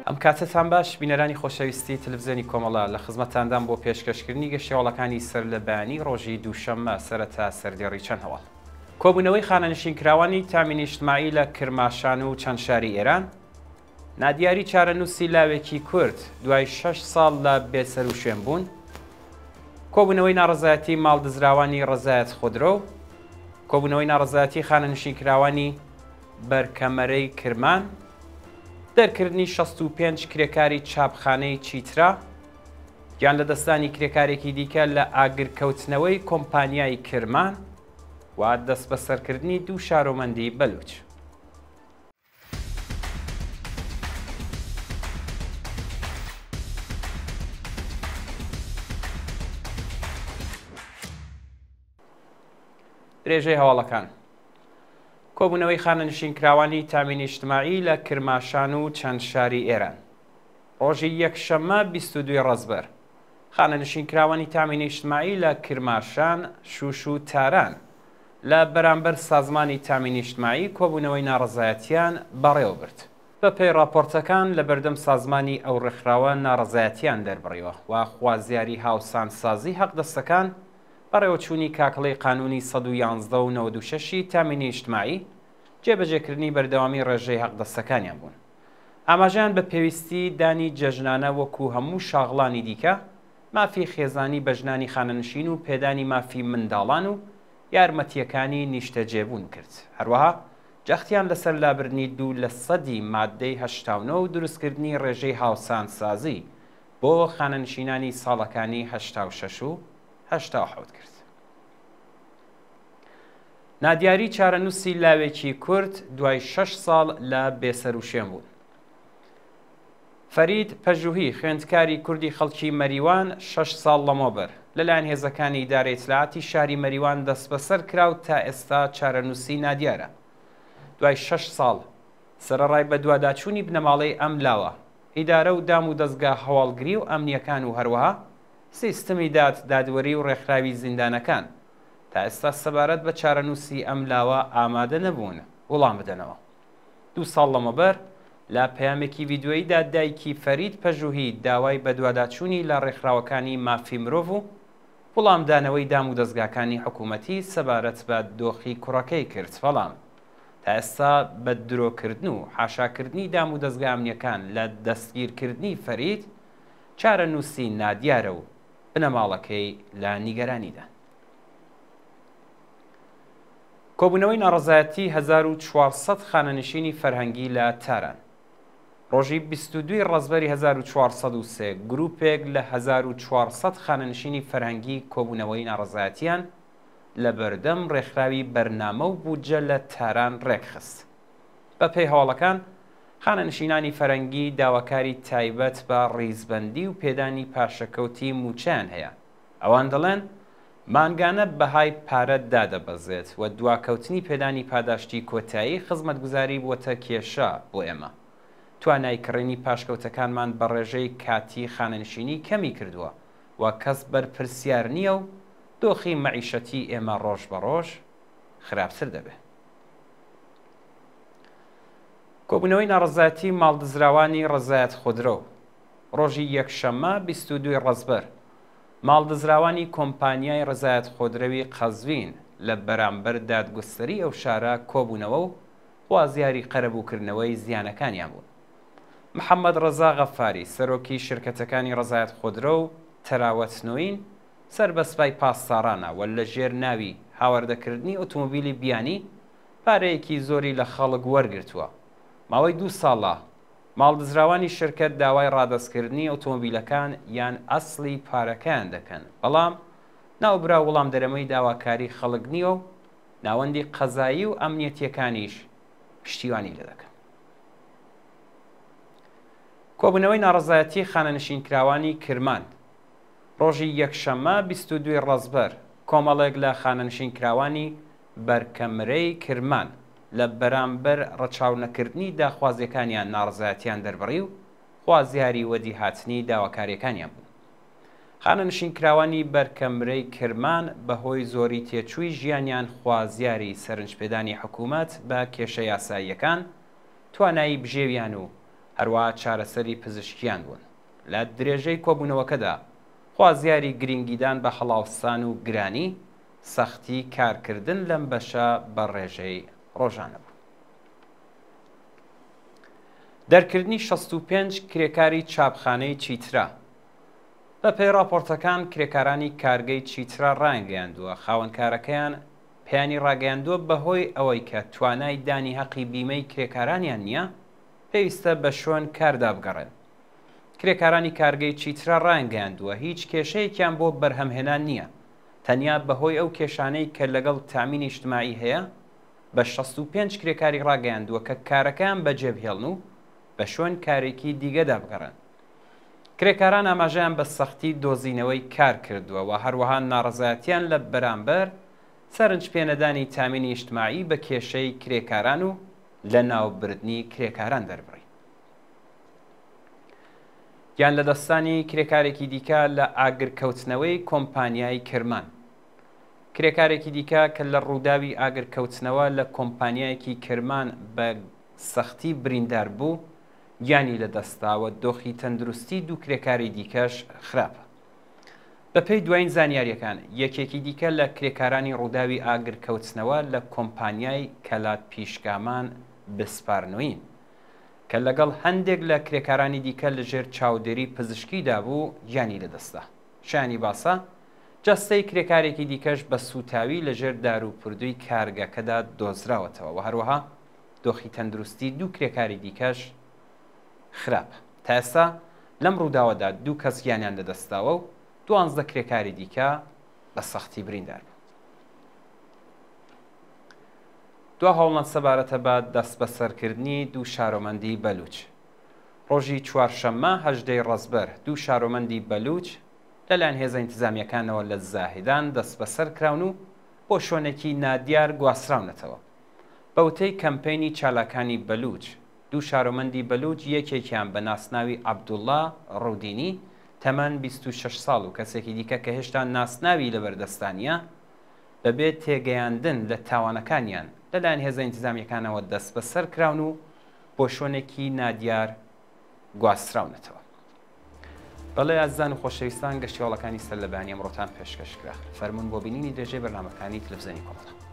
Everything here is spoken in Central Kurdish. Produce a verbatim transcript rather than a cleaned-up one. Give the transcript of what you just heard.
ئەم کاتەتان باش بینەرانی خۆشەویستی تەلەڤیزیۆنی کۆمەڵە لە خزمەتاندان بۆ پێشکەشکردنی گەشتیاوەڵەکانی سەر لە بەیانی ڕۆژی دووشەممە سەرەتا سەردێڕی چەند هەواڵ. کۆبوونەوەی خانەنشینکراوانی تامین ئیجتماعی لە کرماشان و چەند شاری ئێران، نادیاری چارەنووسی لاوێکی کورد دوای شەش ساڵ لە بێسەروشوێن بوون، کۆبوونەوەی ناڕەزایەتی ماڵدزراوانی ڕەزایەت خودرۆ، کۆبوونەوەی ناڕەزایەتی خانەنشینکراوانی بەرکەمەرەی کرمان، دەرکردنی شەست و پێنج کرێکاری چاپخانەی چیترا، گیان لەدەستدانی کرێکارێکی دیکە لە ئاگرکەوتنەوەی کۆمپانیای کرمان و دەستبەسەرکردنی دوو شارۆمەندی بەلوچ. درێژەی هەواڵەکان. کۆبوونەوەی خانەنشینکراوانی تامین ئیجتماعی لە کرماشان و چەند شاری ئێران. ڕۆژی یەکشەممە بیست و دووی ڕەزبەر خانەنشینکراوانی تامین ئیجتماعی لە کرماشان، شوش و تاران لە بەرامبەر سازمانی تامین ئیجتماعی کۆبوونەوەی ناڕەزایەتیان بەڕێوە برد. بەپێی راپۆرتەکان لە بەردەم سازمانی ئەو ڕێکخراوە ناڕەزایەتیان دەربڕیوە و خوازیاری هاوسانسازی حەقدەستەکان بەڕێوەچوونی کاکڵەی قانونی سەد و یازدە و نەوەد و شەش تامین ئیجتماعی جێبەجێکردنی بەردەوامی ڕێژەی حەقدەستەکانیان بوون. ئاماژەیان بە پێویستی دانی جەژنانە وەکو هەموو شاغڵانی دیکە، مافی خێزانی بە ژنانی خانەنشین و پێدانی مافی منداڵان و یارمەتیەکانی نیشتەجێبوون کرد. هەروەها جەختیان لەسەر لابردنی دوو لە سەدی مادەی هەشتا و نۆ و دروستکردنی ڕێژەی هاوسانسازی بۆ خانەنشینانی ساڵەکانی هەشتا و شەش و هەشتا و حەوت کرد. نادیاری چارەنووسی لاوێکی کورد دوای شەش ساڵ لە بێسەروشوێن بوون. فەرید پەژوهی خوێندکاری کوردی خەڵکی مەریوان شەش ساڵ لەمەوبەر لەلایەن هێزەکانی ئیدارەی ئیتلاعاتی شاری مەریوان دەستبەسەر کرا و تا ئێستا چارەنووسی نادیارە. دوای شەش ساڵ سەرەڕای بەدواداچوونی بنەماڵەی ئەم لاوە، ئیدارە و دام و دەستگا هەواڵگری و ئەمنیەکان و هەروەها سیستمی داد دادوەری و ڕێکخراوی زیندانەکان تا ئێستا سەبارەت بە چارەنووسی ئەم لاوە ئامادە نەبوون وەڵام بدەنەوە. دوو ساڵ لەمەوبەر لە پەیامێکی ڤیدیۆییدا دایکی فەرید پەژوهی داوای بەدواداچوونی لە ڕێکخراوەکانی مافی مرۆڤ و وەڵامدانەوەی دام و دەستگاکانی حکوومەتی سەبارەت بە دۆخی کوڕەکەی کرد، بەڵام تا ئێستا بە درۆکردن و حاشاکردنی دام و دەستگا ئەمنیەکان لە دەستگیرکردنی فەرید چارەنووسی نادیارە و بنەماڵەکەی لە نیگەرانیدا. کۆبوونەوەی ناڕەزایەتی هەزار و چوار سەد خانەنشینی فەرهەنگی لە تاران. ڕۆژی بیست و دووی ڕەزبەری هەزار و چوار سەد و سێ گروپێک لە هەزار و چوار سەد خانەنشینی فەرهەنگی کۆبوونەوەی ناڕەزایەتیان لە بەردەم ڕێکخراوی بەرنامە و بودجە لە تاران ڕێکخست. بەپێی هەواڵەکان خانەنشینانی فەرەنگی داواکاری تایبەت بە ڕیزبەندی و پێدانی پاشەکەوتی موچەیان هەیە. ئەوان دەڵێن مانگانە بەهای پارە دادەبەزێت و دواکەوتنی پێدانی پاداشتی کۆتایی خزمەتگوزاری بووەتە کێشە بۆ ئێمە. توانای کڕینی پاشکەوتەکانمان بە ڕێژەی کاتی خانەنشینی کەمی کردووە و کەس بەرپرسیار نییە و دۆخی مەعیشەتی ئێمە ڕۆژ بە ڕۆژ خراپتر دەبێت. کۆبوونەوەی ناڕەزایەتی ماڵدزراوانی ڕەزایەت خودرۆ. ڕۆژی یەکشەممە بیست و دووی ڕەزبەر ماڵدزراوانی کۆمپانیای ڕەزایەت خودرەوی قەزوین لە بەرامبەر دادگوستەری ئەو شارە کۆبوونەوە و خوازیاری قەرەبووکردنەوەی زیانەکانیان بوون. محەممەد ڕەزا غەفاری سەرۆکی شرکەتەکانی ڕەزایەت خودرۆ و تەراوەت نوین سەر بە سپای پاسدارانە و لەژێر ناوی هاواردەکردنی ئۆتۆمۆبیلی بیانی پارەیەکی زۆری لە خەڵک وەرگرتووە. ماوەی دوو ساڵە ماڵدزراوانی شرکت داوای ڕادەستکردنی ئۆتۆمۆبیلەکان یان ئەسڵی پارەکەیان دەکەن، بەڵام ناوبرا وەڵام دەرەمەی داواکاری خەڵک نییە و ناوەندی قەزایی و ئەمنیەتیەکانیش پشتیوانی لێ دەکەن. کۆبوونەوەی ناڕەزایەتی خانەنشینکراوانی کرمان. ڕۆژی یەکشەممە بیست و دووی ڕەزبەر کۆمەڵێک لە خانەنشینکراوانی بەرکەمرەی کرمان لە بەرامبەر ڕەچاو نەکردنی داخوازیەکانیان ناڕەزایەتیان دەربڕی و خوازیاری وەدیهاتنی داواکاریەکانیان بوون. خانەنشینکراوانی بەرکەمرەی کرمان بەهۆی زۆری تێچووی ژیانیان خوازیاری سەرنجپێدانی حکوومەت بە کێشە یاساییەکان، توانایی بژێویان و هەروەها چارەسەری پزیشکیان بوون. لە درێژەی کۆبوونەوەکەدا خوازیاری گرنگیدان بە هەڵاوسان و گرانی سەختی کارکردن لەم بەشە بە ڕێژەی ڕۆژانە بوو. دەرکردنی شەست و پێنج کرێکاری چاپخانەی چیترا. بەپێی ڕاپۆرتەکان کرێکارانی کارگەی چیترا ڕایانگەیاندووە خاوەنکارەکەیان پێیانی ڕاگەیاندووە بەهۆی ئەوەی کە توانای دانی هەقی بیمەی کرێکارانیان نییە پێویستە بە شوێن کاردا بگەڕێن. کرێکارانی کارگەی چیترا ڕایانگەیاندووە هیچ کێشەیەکیان بۆ بەرهەمهێنان نییە، تەنیا بەهۆی ئەو کێشانەی کە لەگەڵ تامینی ئیجتماعی هەیە بە شەست و پێنج کرێکاری ڕاگەیاندووە کە کارەکەیان بەجێبهێڵن و بە شوێن کارێکی دیگەدا بگەڕێن. کرێکاران ئاماژەیان بە سەختی دۆزینەوەی کار کردووە و هەروەها ناڕەزایەتیان لە بەرامبەر سەرنج پێنەدانی تامینی ئیجتماعی بە کێشەی کرێکاران و لە ناوبردنی کرێکاران دەربڕی. گیان لە دەستانی کرێکارێکی دیکە لە ئاگرکەوتنەوەی کۆمپانیای کرمان. کرێکارێکی دیکە کە لە ڕووداوی ئاگرکەوتنەوە لە کۆمپانیایەکی کرمان بە سەختی بریندار بوو گیانی لە دەستاوە دۆخی تەندروستی دوو کرێکاری دیکەش خراپە. بەپێی دوایین زانیاریەکان یەکێکی دیکە لە کرێکارانی ڕووداوی ئاگرکەوتنەوە لە کۆمپانیای کەلات پیشگامان بسپارنوین کە لەگەڵ هەندێک لە کرێکارانی دیکە لەژێر چاودێری پزیشکیدا بوو گیانی لەدەستدا. شایانی باسە جەستەی کرێکارێکی دیکەش بە سوتاوی لەژێر دار و پردووی کارگەکەدا دۆزراوەتەوە و هەروەها دۆخی تەندروستی دوو کرێکاری دیکەش خراپ. تا ئێستا لەم ڕووداوەدا دوو کەس گیانیان لەدەستداوە و دوانزدە کرێکاری دیکە بە سەختی بریندار بوو. دوا هەوڵنەت سەبارەتە بە دەستبەسەرکردنی دوو شارۆمەندی بەلوچ. ڕۆژی چوارشەممە هەژدەی ڕەزبەر دوو شارۆمەندی بەلوچ لەلایەن هێزە ئینتیزامیەکانەوە لە زاهیدان دەستبەسەر کراون و بۆ شوێنێکی نادیار گواستراونەتەوە. بەوتەی کەمپەینی چالاکانی بەلوچ دوو شارۆمەندی بەلوچ یەکێکیان بە ناسناوی عەبدوڵڵا ڕودینی تەمەن بیست و شەش ساڵ و کەسێکی دیکە کە هێشتا ناسناوی لەبەردەستانیە بەبێ تێگەیاندن لە تاوانەکانیان لەلایەن هێزە ئینتیزامیەکانەوە دەستبەسەر کراون و بۆ شوێنێکی نادیار گواستراونەتەوە. بەڵێ ئازیزان و خۆشەویستان گەشتیواڵەکانی سەر لە بەیانی ئەمڕۆتان پێشکەش کرا. فەرمونون بۆ بینینی درێژەی بەرنامەکانی تەلەڤیزیۆنی کۆمەڵە.